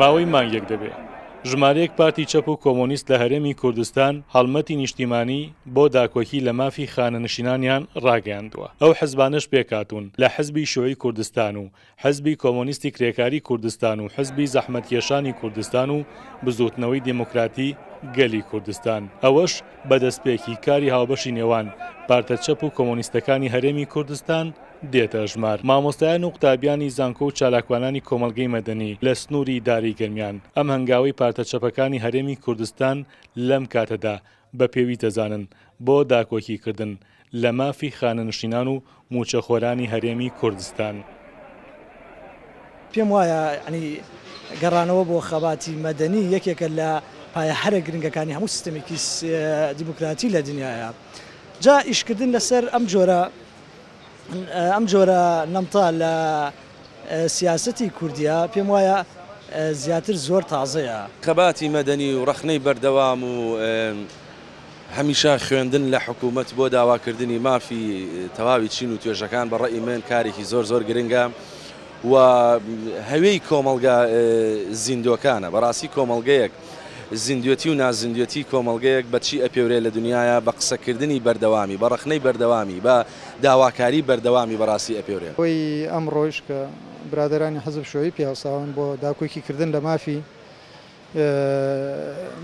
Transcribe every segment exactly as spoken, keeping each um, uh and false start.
ماوەی مانگێک دەبێ ژمارەیەک پارتی چەپ و کۆمۆنیست لە هەرێمی کوردستان هەڵمەتی نیشتیمانی بۆ داکۆکی لە مافی خانەنشینانیان ڕاگەیاندووە. ئەو حزبانەش پێکهاتوون لە حزبی شیوعی کوردستان و حزبی کۆمۆنیستی کرێکاری کوردستان و حزبی زەحمەتکێشانی کوردستان و بزووتنەوەی دێموکراتی گەلی کوردستان. ئەوەش بە دەستپێکی کاری هاوبەشی نێوان پارتە چەپ و کۆمۆنیستەکانی هەرێمی کوردستان دێتە ژمار. مامۆستایان و قوتابیانی زانکۆ و چالاکوانانی کۆمەڵگەی مەدەنی لە سنووری داری گەرمیان ئەم هەنگاوەی پارتە چەپەکانی هەرێمی کوردستان لەم کاتەدا بە پێویست دەزانن بۆ داکۆکیکردن لە مافی خانەنشینان و موچەخۆرانی هەرێمی کوردستان. پێم وایە ینی گەڕانەوە بۆ خەباتی مەدەنی یەکێکە لە پایە هەرە گرنگەکانی هەموو سیستەمێکی دیموکراتی لە دنیاە. جا ئیشکردن لەسەر ئەم جۆرە ئەم جۆرە نەمتا لە سیاسەتی کوردیا پێم وایە زیاتر زۆر تازەیە. خەباتی مەدەنی و ڕەخنەی بەردەوام و هەمیشە خوێندن لە حکوومەت بۆ داواکردنی مافی تەواوی چین و توێژەکان بە ڕەئی من کارێکی زۆر زۆر گرنگە و هەوێی کۆمەڵگا زیندۆکانە. بەڕاستی کۆمەڵگەیەک زیندوێتی و نازیندوێتی کۆمەڵگەیەک بەچی ئەپێورێ لە دنیاە بە قسەکردنی بەردەوامی، بە ڕەخنەی بەردەوامی، بە داواکاری بەردەوامی بەڕاستی ئەپێورێ. ئەوەی ئەمڕۆیش کە برادرانی حزب شیوعی پیاوساون بۆ داکۆکیکردن لە مافی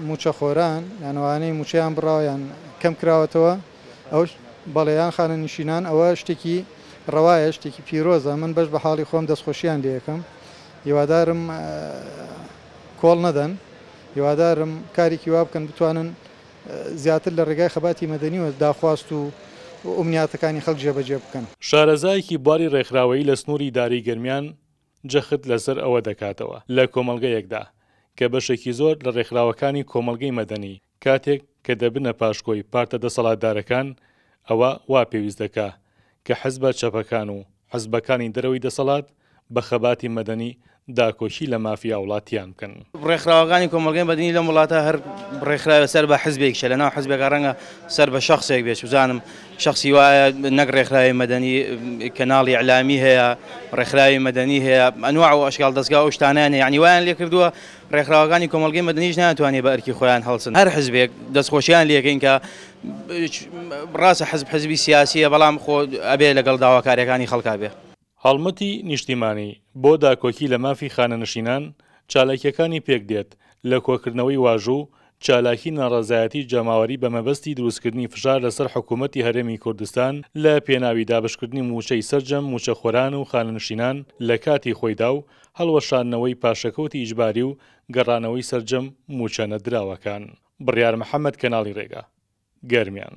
موچەخۆران، یان ئەوانەی موچەیان بڕاوە یان کەم کراوەتەوە، ئەوش بەڵێیان خانەنشینان، ئەوە شتێکی ڕەوایە، شتێکی پیرۆزە. من بەش بە حاڵی خۆم دەستخۆشیان لێیەکەم. هیوادارم کۆڵ نەدەن، هیوادارم کارێکی وا بکەن بتوانن زیاتر لە ڕێگای خەباتی مەدەنیەوە داخواست و ئومنیاتەکانی خەڵک جێبەجێ بکەن. شارەزایەکی بواری ڕێکخراوەیی لە سنووری داری گەرمیان جەخت لەسەر ئەوە دەکاتەوە لە کۆمەڵگەیەکدا کە بەشێکی زۆر لە ڕێکخراوەکانی کۆمەڵگەی مەدەنی کاتێک کە دەبنە پاشکۆی پارتە دەسەڵاتدارەکان، ئەوە وا پێویست دەکا کە حزبە چەپەکان و حزبەکانی دەرەوەی دەسەڵات بە خەباتی مەدەنی داکۆکی لە مافی هاوڵاتیان بکەن. ڕێکخراوەکانی کۆمەڵگەی مەدەنی لەم وڵاتە هەر ڕێکخراوە سەر بە حزبێکیشە، لەناو حزبێکە ڕەنگە سەر بە شخصێک بێت، بزانم شخصی وایە نەک ڕێکخراوی مەدەنی، کەناڵی ئیعلامی هەیە، ڕێکخراوی مەدەنی هەیە، ئەنواع و ئەشکال دەستگا و شتانیان هەیە. یعنی وایان لێ کردووە ڕێکخراوەکانی کۆمەڵگەی مەدەنیش ناتوانێت بە ئەرکی خۆیان هەڵسن. هەر حزبێک دەستخۆشیان لێکەین کە ڕاستە حزب حزبی سیاسیە، بەڵام خۆ ئەبێ لەگەڵ داواکاریەکانی خەڵکا بێ. هەڵمەتی نیشتیمانی بۆ داکۆکی لە مافی خانەنشینان چالاکیەکانی پێک دێت لە کۆکردنەوەی واژوو چالاکی ناڕەزایەتی جەماوەری بە مەبەستی دروستکردنی فشار لەسەر حکوومەتی هەرێمی کوردستان لە پێناوی دابشکردنی موچەی سەرجەم موچەخۆران و خانەنشینان لە کاتی خۆیدا و هەڵوەشاندنەوەی پاشەکەوتی ئیجباری و گەڕانەوەی سەرجەم موچە نەدراوەکان. بڕیار محەممەد، کەناڵی ڕێگا، گەرمیان.